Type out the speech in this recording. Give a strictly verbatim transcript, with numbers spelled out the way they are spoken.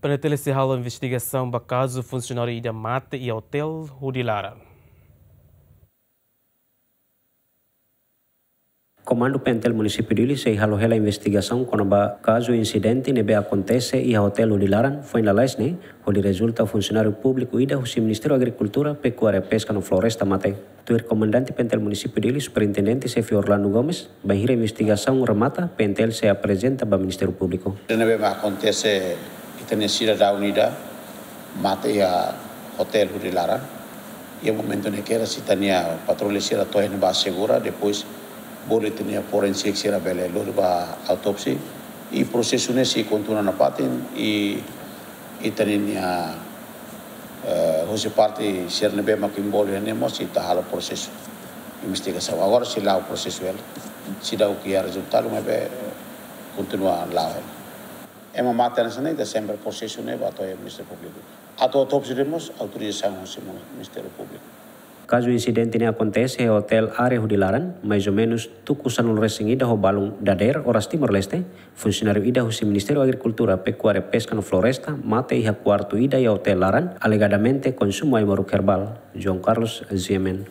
PNTL sei halo investigasaun ba kazu funsionáriu ida mate iha otél hodi laran. Komandu PNTL Munisípiu Dili sei halo hela investigasaun kona-ba kazu insidente ne'ebé akontese iha otél hodi laran foin lalais ne'e, hodi rezulta funsionáriu públiku ida husi Ministériu Agrikultura, Pekuária, Peska no Floresta mate. Tuir Komandante PNTL Munisípiu Dili, Superintendente Xefe Orlando Gomes, bainhira investigasaun remata, PNTL sei aprezenta ba Ministériu Públiku. Ne'ebé mak akontese ita-nia sidadaun ida mate iha otél hodi laran. Iha momentu ne'e kera sita-nia patrulla sira to'o iha ne'ebá asegura, depois bolu ita-nia forensik sira bele lori ba autópsia. I prosesu ne'e sei kontinua nafatin, i ita-nia, eh, husi parte sira ne'ebé mak envolve ne'e mós sei ita halo prosesu investigasaun. Agora sei la'o prosesu hela. Seidauk iha rezultadu maibé kontinua la'o hela. Ema mate hanesan ne'e ita sempre prosesu ne'e ba to'o iha Ministériu Públiku. Atu autópsia de'it mós autorizasaun husi Ministériu Públiku. Kazu insidente ne'e akontese iha otél área hodi laran, mais ou menus tuku sanulu-resin-ida ho balun dadeer oras Timor-Leste, funsionáriu ida husi Ministériu Agrikultura, Pekuária, Peska no Floresta mate iha kuartu ida iha otél laran, alegadamente konsumu ai-moruk herbál. João Carlos, G M N.